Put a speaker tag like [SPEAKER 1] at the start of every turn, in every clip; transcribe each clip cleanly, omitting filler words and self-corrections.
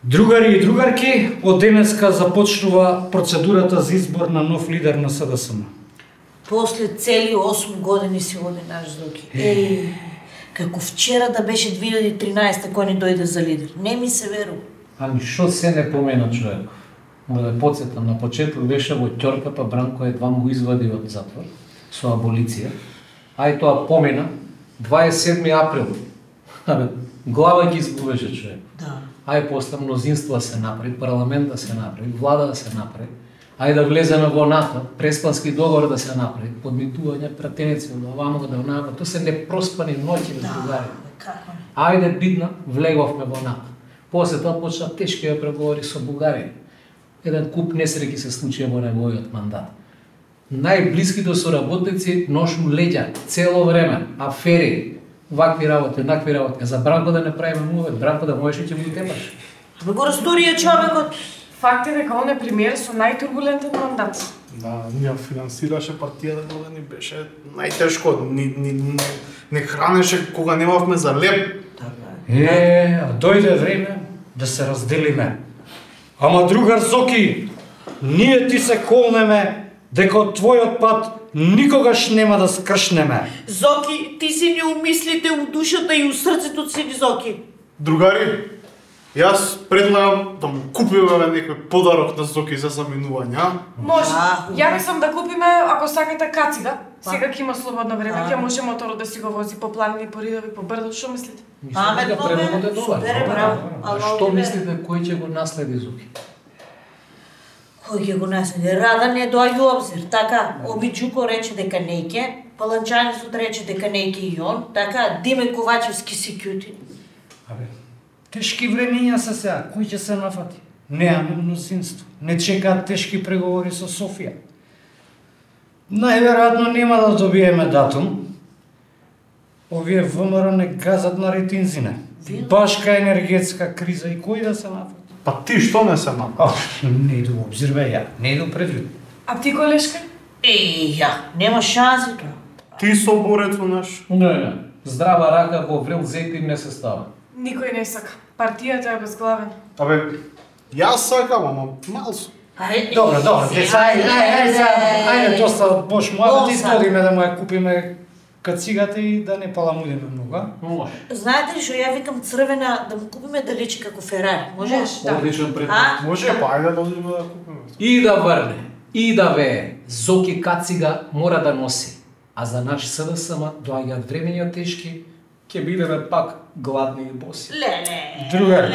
[SPEAKER 1] Другари и другарки, од денеска започнува процедурата за избор на нов лидер на СДСМ.
[SPEAKER 2] После цели 8 години си оди наш Зоки. Како вчера да беше 2013 кој ни дојде за лидер. Не ми се верува.
[SPEAKER 3] Ами шо се не помена човек? Мора да подсетам, на почеток беше во ќорка, па Бранко едва му извади од затвор со аболиција. Ај тоа помена 27 април. Абе, глава ги избуваше човек.
[SPEAKER 2] Да.
[SPEAKER 3] Ај после мнозинство се направи, парламент да се направи, влада да се направи. Ај да влеземе во НАТО, преспански договор да се направи, подмитување, пратеници од оваму да онаму, тоа се непроспани ноќи на другари. Ајде бидна, влеговме во НАТО. После тоа почна тешки преговори со Бугарија. Еден куп несреќи се случија во неговиот мандат. Најблиските соработници ношу леѓа цело време, афери, вакви работи, накви работи. За Бранко да не правиме мувет, Бранко да можеш и ќе го тепаш.
[SPEAKER 2] Абе го расторија човекот.
[SPEAKER 4] Факт е дека он е премиер со најтурбулентен мандат.
[SPEAKER 5] Да, ние финансираше партијата кога ни беше најтешко, не хранеше кога немавме за леп.
[SPEAKER 1] Дојде време да се разделиме. Ама другар Зоки, ние ти се колнеме дека од твојот пат никогаш нема да скршнеме.
[SPEAKER 2] Зоки, ти си ни умислите у душата и у срцето си ни, Зоки.
[SPEAKER 5] Другари, јас предлагам да му купиме некој подарок на Зоки за заминување, а?
[SPEAKER 4] Може. Ја мислам да купиме, ако сакате, кацига. Сега ќе има слободно време, ќе може моторот да си го вози по планини, по ридови, по брдо, што мислите?
[SPEAKER 2] Супер, браво.
[SPEAKER 3] Што мислите кој ќе го наследи Зоки?
[SPEAKER 2] Кој ќе го наследи? Рада не доаѓа у обзир, така? Обиджуко рече дека не ќе, Паланчанецот рече дека не ќе и он, така? Диме Ковачевски си кјути.
[SPEAKER 1] Абе, тешки времења се сега, кој ќе се нафати? Неаме мнозинство, не чекаат тешки преговори со Софија. Најверојатно нема да добиеме датум. Овие ВМРО не газат на ретинзина. Башка енергетска криза и кој да се нафати?
[SPEAKER 5] Па ти што не се нафати?
[SPEAKER 1] Не иду во обзир, бе, ја, не иду предвид.
[SPEAKER 4] А ти, колешка?
[SPEAKER 2] Ја, нема шанси тоа.
[SPEAKER 5] Ти соборецо наш.
[SPEAKER 3] Не. Здрава рака во врел зетин не се става.
[SPEAKER 4] Никој не сака. Партијата е безглавен.
[SPEAKER 5] Абе, јас сакам, ама малсо.
[SPEAKER 1] Добро, деца, ајде, доста бош муавет, исподиме да му ја купиме кацигата и да не паламудиме многу, а?
[SPEAKER 3] Може.
[SPEAKER 2] Знаете ли што ја викам црвена да му купиме да личи како Ферари, може?
[SPEAKER 3] Одличен предмет.
[SPEAKER 5] Може, па ајде да одиме да купиме.
[SPEAKER 3] И да врне, и да вее, Зоки кацига мора да носи. А за наш СДСМ доаѓаат времења тешки, ќе бидеме пак гладни и боси.
[SPEAKER 2] Леле.
[SPEAKER 1] Другар,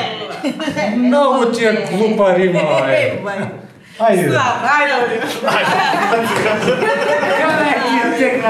[SPEAKER 1] многу ти е глупа рима, бе. Ајде.
[SPEAKER 4] Ајде.
[SPEAKER 1] Кај ќе текна?